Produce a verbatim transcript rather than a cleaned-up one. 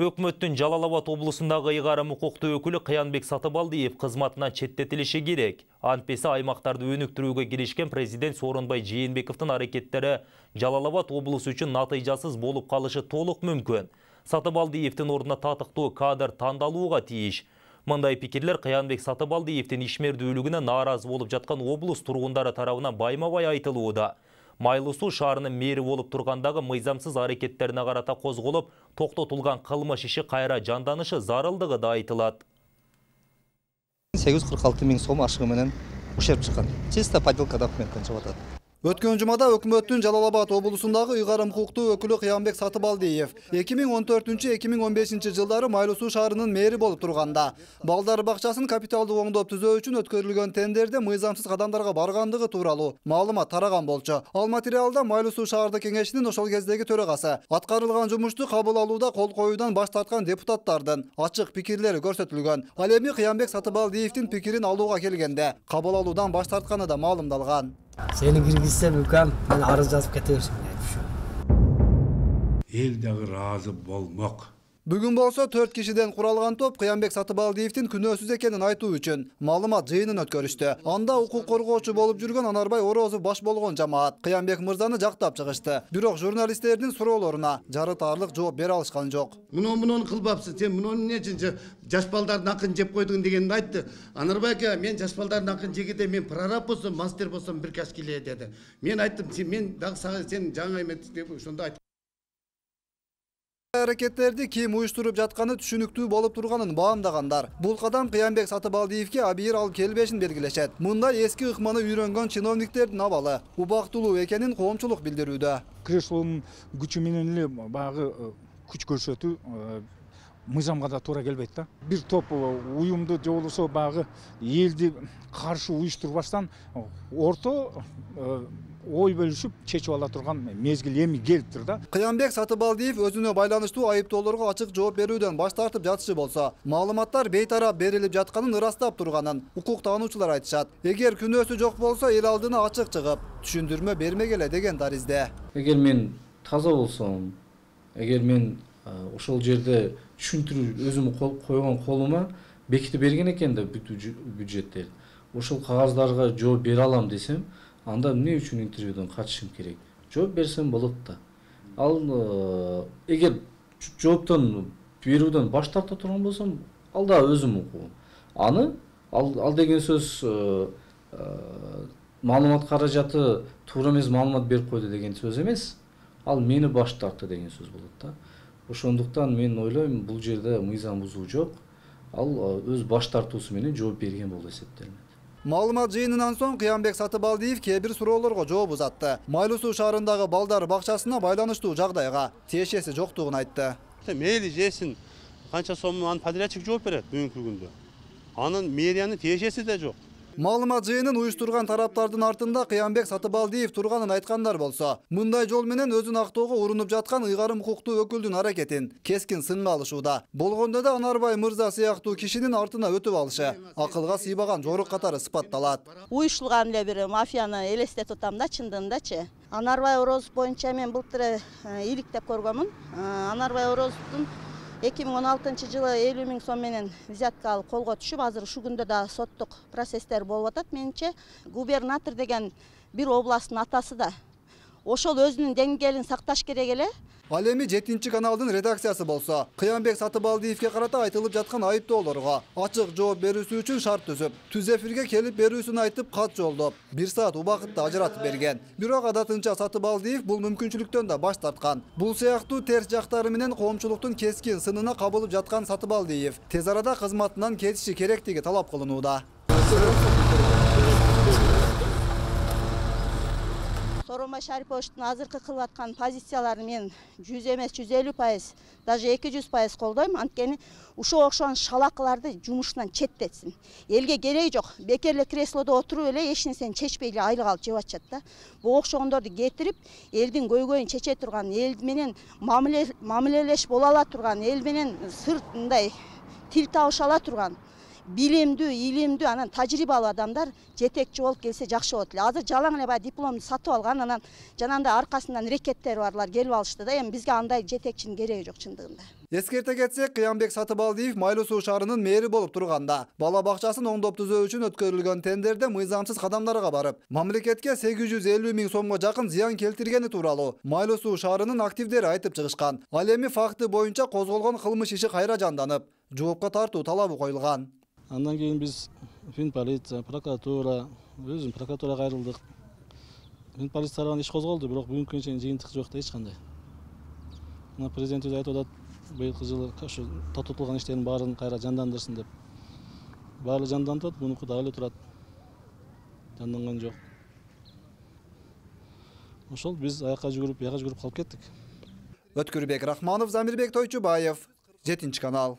Өкмөттүн Жалал Абад облусундагы ыйгарым укуктуу өкүлү Кыянбек Сатыбалдиев кызматынан четтетилиши керек. Антпесе аймактарды өнүктүрүүгө киришкен президент Сооронбай Жээнбековдун аракеттери Жалал Абад облусу үчүн натыйжасыз болуп калышы толук мүмкүн. Сатыбалдиевдин ордуна татыктуу кадр тандалууга тийиш. Мындай пикирлер Кыянбек Сатыбалдиевдин ишмердүүлүгүнө нааразы болуп жаткан облус тургундары тарабынан байма-бай айтылууда. Майлуу Суу шаарынын мэри болуп тургандагы мыйзамсыз аракеттерине карата козголуп, токтотулган кылмыш иши кайра жанданышы зарылдыгы да айтылат. сегиз жүз кырк алты миң сом ашыгы менен ушерп чыккан. Чисто подделка документтен чыгып атат. Өткөн жумада өкмөттүн Жалал Абад облусундагы ыйгарым укуктуу өкүлү Кыянбек Сатыбалдиев эки миң он төртүнчү — эки миң он бешинчи жылдары Майлуу Суу шаарынын мэри болуп турганда балдар бакчасын капиталдуу оңдоп түзөө үчүн өткөрүлгөн тендерде мыйзамсыз кадамдарга баргандыгы тууралуу маалымат тараган болчу. Ал материалда Майлуу Суу шаардык кеңешинин ошол кездеги төрагасы аткарылган жумушту кабыл алууда кол коюудан баш тарткан депутаттардын ачык пикирлери көрсөтүлгөн. Ал эми Кыянбек Сатыбалдиевдин пикирин алууга келгенде кабыл алуудан баш тартканы да маалымдалган. Сени киргизсем үкам, мен арыз жазып кете берсем деп. Эл дагы ыраазы болмок. Бүгүн болсо төрт кишиден куралган топ Кыянбек Сатыбалдиевдин күнөөсүз экенин айтуу үчүн маалымат жыйынын өткөрүштү. Анда укук коргоочу болуп жүргөн Анарбай Орозов баш болгон жамаат Кыянбек мырзаны жактап чыгышты. Бирок журналисттердин суроолоруна жарытарлык жооп бере алышкан жок. Муну муну кылбапсыз, сен муну эмне үчүн жаш балдардын акын жеп койдуң дегенди айтты. Анарбай ака, мен жаш балдардын акын жегенде мен прораб болсом, мастер болсом бир кашкиле деди. Мен айттым, сен мен дагы сен жаңы эмет деп ошондо айттым. Аракеттерди ким уюштуруп жатканы түшүнүктүү болуп турганын баамдагандар. Бул кадам Кыянбек Сатыбалдиевге абийир алып келбешин белгилешет. Мындай эски ыкманы үйрөнгөн чиновниктердин абалы убактылуу экенин коомчулук билдирүүдө. Креслонун күчү менен эле багы күч көрсөтүү мыйзамга да туура келбейт да. Бир топ уюмду же болбосо багы элди каршы уюштурбастан орто ой бөлүшүп чечип ала турган мезгил эми келиптир да. Кыянбек Сатыбалдиев өзүнө байланыштуу айыптоолорго ачык жооп берүүдөн баш тартып жатышы болсо, маалыматтар бейтарап берилип жатканын ырастап турганын укук таануучулар айтышат. Эгер күнөөсү жок болсо, эл алдына ачык чыгып, түшүндүрмө бермегеле деген таризде. Эгер мен таза болсом, эгер мен ошол жерде түшүндүрүү өзүм койгон колума бекитип берген экен да бюджеттер. Ошол кагаздарга жооп бере алам десем, анда эмне үчүн интервьюдан катышым керек? Жооп берсем болот да. Ал эгер жооптон берүүдөн баш тарта турган болсом, ал да өзүм укугум. Аны ал, ал деген сөз маалымат каражаты туура эмес маалымат берип койду деген сөз эмес. Ал мени баш тартты деген сөз болот да. Ошондуктан мен ойлойм, бул жерде мыйзам бузуу жок. Ал өз баш тартуусу менен жооп берген болуп эсептелет. Маалымат жыйынынан соң Кыянбек Сатыбалдиев кээ бир суроолорго жооп узатты. Майлуу Суу шаарындагы балдар бакчасына байланыштуу жагдайга тиешеси жоктугун айтты. Мейли жесин, канча сом анын подрядчик жооп берет бүгүнкү күндө. Анын мэриянын тиешеси да жок. Маалымат жыйынын уюштурган тараптардын артында Кыянбек Сатыбалдиев турганын айткандар болсо, мындай жол менен өзүн актоого урунуп жаткан ыйгарым укуктуу өкүлдүн аракетин кескин сынга алышууда. Болгондо да Анарбай мырза сыяктуу кишинин артына өтүп алышы акылга сыйбаган жорук катары сыпатталат. Уюштурган эле бир мафияны элестетип атам да, чындыгындачы. Анарбай Орозов боюнча мен былтыр иликтеп көргөмүн. Анарбай Орозовдун эки миң он алтынчы жылы элүү миң сом менен взятка алып колго түшүп, азыр ушул күндө да соттук процесстер болуп атат. Менимче губернатор деген бир областтын атасы да ошол өзүнүн деңгээлин сакташ керек эле. Ал эми жетинчи каналдын редакциясы болсо, Кыянбек Сатыбалдиевге карата айтылып жаткан айыптоолорго ачык жооп берүүсү үчүн шарт түзүп, түз эфирге келип берүүсүн айтып кат жолдоп, бир саат убакытты ажыратып берген. Бирок адатынча Сатыбалдиев бул мүмкүнчүлүктөн да баш тарткан. Бул сыяктуу терс жактары менен коомчулуктун кескин сынына кабылып жаткан Сатыбалдиев тез арада кызматынан кетиши керектиги талап кылынууда. Сооронбай Шариповичтин азыркы кылып аткан позицияларын мен жүз эмес жүз элүү пайыз, даже эки жүз пайыз колдойм. Анткени ушуга окшогон шалакыларды жумушунан четтетсин. Элге кереги жок. Бекер эле креслодо отуруп эле эч нерсени чечпей эле айлык алып жеп атышат да. Бул окшогондорду кетирип, элдин көйгөйүн чече турган, эл менен мамилелеш боло ала турган, эл менен сырт мындай тил табыша ала турган билимдүү, илимдүү, анан тажрыйбалуу адамдар жетекчи болуп келсе жакшы болот эле. Азыр жалаң эле баягы дипломду сатып алган, анан жанагындай аркасынан рекеттери барлар келип алышты да. Эми бизге андай жетекчинин кереги жок чындыгында. Эскерте кетсек, Кыянбек Сатыбалдиев Майлуу Суу шаарынын мэри болуп турганда, бала бакчасын оңдоп түзөө үчүн өткөрүлгөн тендерде мыйзамсыз кадамдарга барып, мамлекетке сегиз жүз элүү миң сомго жакын зыян келтиргени тууралуу Майлуу Суу шаарынын активдери айтып чыгышкан. Ал эми факты боюнча козголгон кылмыш иши кайра жанданып, жоопко тартуу талабы коюлган. Андан кийин биз Фин полиция, прокуратура, өзүм прокуратурага кайрылдык. Фин полиция тарабынан иш козголду, бирок бүгүнкү күнгө чейин жыйынтык жок да эч кандай. Мына президент өзү айтып атат, быйылкы жылы ошо токтотулган иштердин баарын кайра жандандырсын деп. Баары жанданып атат, мунуку дагы эле турат. Жанданган жок. Ошол биз аяка жүгүрүп, бияка жүгүрүп калып кеттик. Өткүрбек Рахманов, Замирбек Тойчубаев, жетинчи канал.